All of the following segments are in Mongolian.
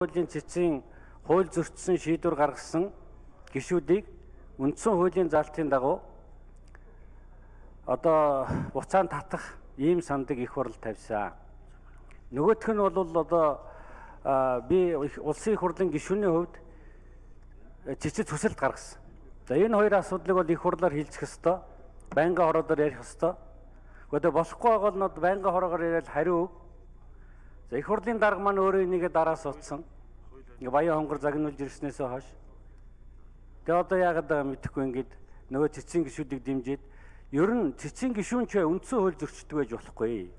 хуулийн цэцгийн хууль зөрчсөн шийдвэр гаргасан гишүүдийг үндсэн хуулийн заалтын дагуу одоо буцаан татах ийм сандыг их хурл тавьсан. Нөгөөх нь бол одоо би улсын их хурлын гишүүний хувьд цэцэд төсөлд гаргасан. За энэ хоёр асуудлыг бол их хурлаар хилцэх ёстой. Байнгын хороодоор ярих ёстой. Гэхдээ болохгүй байгаа бол нод байнгын хороогоор яриад хариу. За их хурлын дарга маань өөрөө энийгээ дараас утсан. Баян хонгор загнуулж ирснээсээ хойш. Тэгээ одоо яагаад байгаа мэдэхгүй ингээд нөгөө цэцгийн гишүүдийг дэмжиж ер нь цэцгийн гишүүн ч үндсэн хууль зөрчдөг байж болохгүй.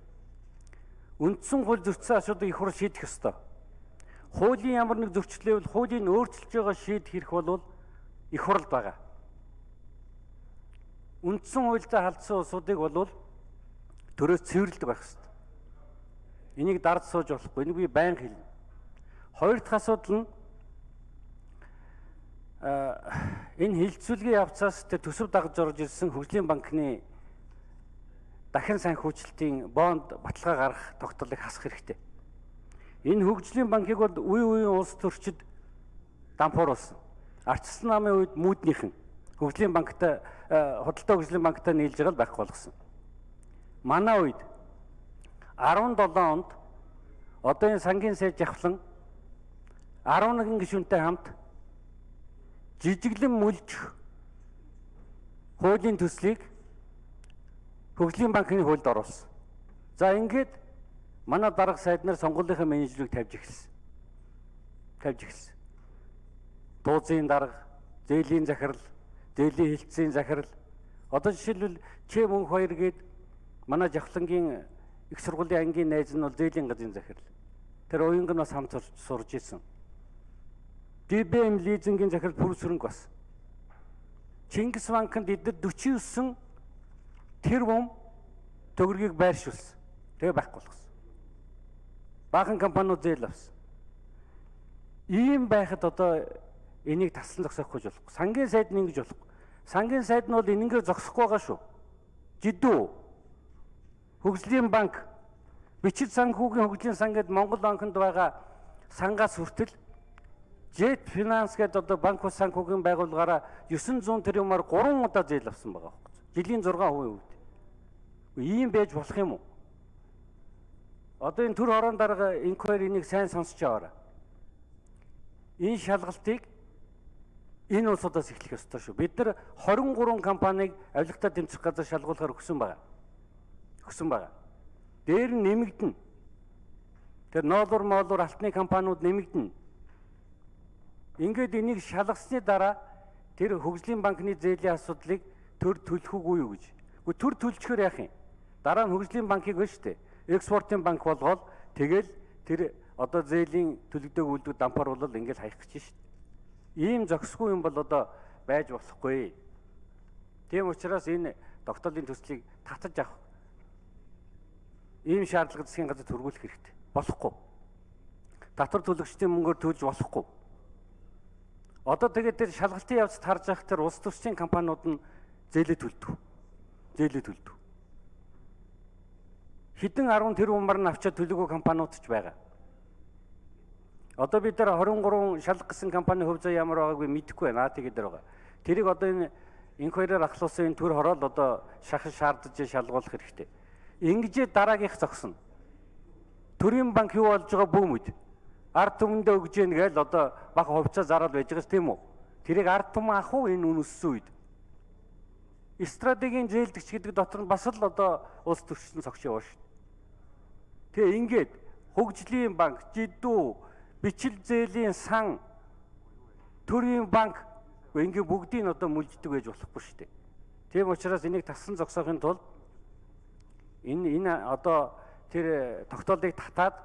Үндсэн хууль зөрчсөн асуудыг их хурл шийдэх ёстой. Хуулийн ямар нэг зөрчлөөвэл хуулийг өөрчилж байгаа шийдэх хэрэг бол их хурл байгаа. Үндсэн хуультай халдсан улсуудыг бол төрөөс цэвэрлдэг байх ёстой. Энийг дард сууж болохгүй. Энийг би байнга хэлнэ. Хоёр дахь асуудал нь энэ хилцүүлгийн явцаас төсөв дагаж орж ирсэн хөгжлийн банкны дахин санхүүжилтийн бонд баталгаа гаргах тогтоолыг хасах хэрэгтэй. Энэ хөгжлийн банкыг бол үе үеийн улс төрчид дампууруулсан. Ардчилсан намын үед мүүднийхэн хөгжлийн банктай худалдаа хөгжлийн банктай нийлж байгаа л байхгүй болгосон. Манай үед 17 онд одоо энэ сангийн сайд жавхлан 11 гишүүнтэй хамт жижиглэн мүлжих хуулийн төслийг хөгжлийн банкны хуульд оруулсан. За ингээд манай дарга сайд нар сонгуулийн менежерийг тавьж эхэлсэн. Дуузын дарга, зээлийн захирал, зээлийн хилцээний захирал. Одоо жишээлбэл Ч мөнх 2 гээд манай жавхлангийн их сургуулийн ангийн найз нь бол зээлийн газрын захирал. Тэр уянг нь бас хамт сурж ирсэн. ДБМ лизингийн захирал Пүр Сүрэнг бас. Чингис банкнд эдгээр 49 тэрбум төгрөгийг байршуулсан. Тэгээ байхгүй болгосон. Баахан компаниуд зээл авсан. Ийм байхад одоо энийг таслан зогсоохгүй болохгүй. Сангийн сайд нь ингэж болохгүй. Сангийн сайд нь бол энэнгээр зогсохгүй байгаа шүү. Жидүү хөгжлийн банк бичил санхүүгийн хөгжлийн сан гэдэг Монгол банкнд байгаа сангаас хүртэл Jet Finance гэдэг одоо банк ус санхүүгийн байгууллагаараа 900 тэрбумаар 3 удаа зээл авсан байгаа байхгүй. Жилийн 6% үүд. Ийм байж болох юм уу? Одоо энэ төр хорон дарга инквайр энийг сайн сонсч аваарай. Энэ шалгалтыг энэ улсуудаас эхлэх ёстой шүү. Бид нар 23 компанийг авилгатаа тэмцэх газар шалгуулахаар өгсөн байгаа. Дээр нь нэмэгдэнэ. Тэр ноолур алтны компаниуд нэмэгдэнэ. Ингээд энийг шалгасны дараа тэр хөгжлийн банкны зээлийн асуудлыг төр төлөх үгүй юу гэж. Гэхдээ төр төлчихөр яах юм? Дараа нь хөгжлийн банкыг байна шүү дээ. Экспортын банк болгоод тэгэл тэр одоо зээлийн төлөгдөг үйлдвэр дампууруулал ингээд хаях гэж шүү дээ. Ийм зохисгүй юм бол одоо байж болохгүй. Тийм учраас энэ тогтоолын төслийг татаж авах ийм шаардлага засгийн газар төргүүлэх хэрэгтэй. Болохгүй. Татвар төлөгчдийн мөнгөөр төлж болохгүй. Одоо тэгээд тэр шалгалтын явцад харж явах тэр улс төрчийн компаниуд нь зээлээ төлдөг. Хэдэн 10 тэрбумаар нь авчаад төлөөгүй компаниуд ч байгаа. Одоо бид нар 23 шалгах гэсэн компани хөв зүй ямар байгааг би мэдэхгүй байна. Тэгээд дээр байгаа. Тэрийг одоо энэ инквайраар ахлуулсан энэ төр хороол одоо шаардаж шалгуулах хэрэгтэй. Ингэж дараагийнх зогсно. Төрийн банк юу болж байгаа бүүмэд ард түмэндээ өгж яах гээл одоо бага хувьцаа зараад байж байгаа тийм үү? Тэрийг ард түмэн ах уу энэ үнэссэн үед. Стратегийн зээлдэгч гэдэг дотор нь бас л одоо улс төрчсөн цогч яваа шүү. Тэгээ ингээд хөгжлийн банк, жидүү, бичил зээлийн сан, төрийн банк ингээд бүгдийг одоо мүлждэг байж болохгүй шүү дээ. Тийм учраас энийг таслан зогсоохын тулд энэ одоо тэр тогтоолыг татаад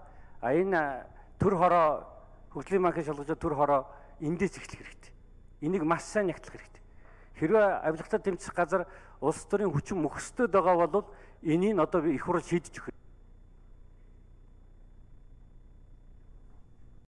энэ төр хороо хөгжлийн банкын шалгаж төр хороо эндээс эхлэх хэрэгтэй. Энийг маш сайн нягтлах хэрэгтэй. Хэрвээ авилгатаа тэмцэх газар улс төрийн хүчин мөхсдөд байгаа бол энийг одоо их хурл шийдэж өгөх.